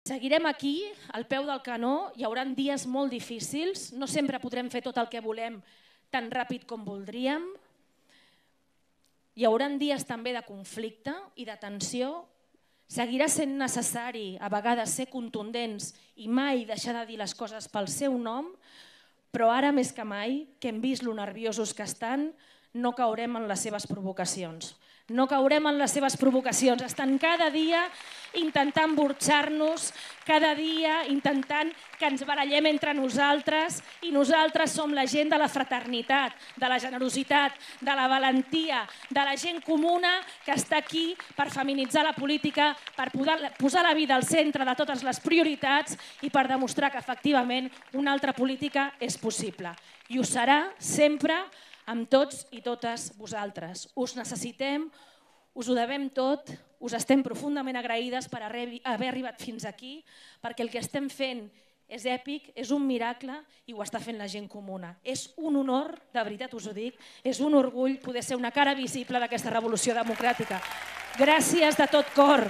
Seguirem aquí, al peu del canó, hi haurà dies molt difícils, no sempre podrem fer tot el que volem tan ràpid com voldríem. Hi haurà dies també de conflicte i de tensió. Seguirà sent necessari a vegades ser contundents i mai deixar de dir les coses pel seu nom, però ara més que mai, que hem vist lo nerviosos que estan, no caurem en les seves provocacions. No caurem en les seves provocacions. Estan cada dia intentant burxar-nos, cada dia intentant que ens barallem entre nosaltres, i nosaltres som la gent de la fraternitat, de la generositat, de la valentia, de la gent comuna que està aquí per feminitzar la política, per posar la vida al centre de totes les prioritats i per demostrar que efectivament una altra política és possible. I ho serà sempre amb tots i totes vosaltres. Us necessitem, us ho devem tot, us estem profundament agraïdes per haver arribat fins aquí, perquè el que estem fent és èpic, és un miracle i ho està fent la gent comuna. És un honor, de veritat us ho dic, és un orgull poder ser una cara visible d'aquesta revolució democràtica. Gràcies de tot cor.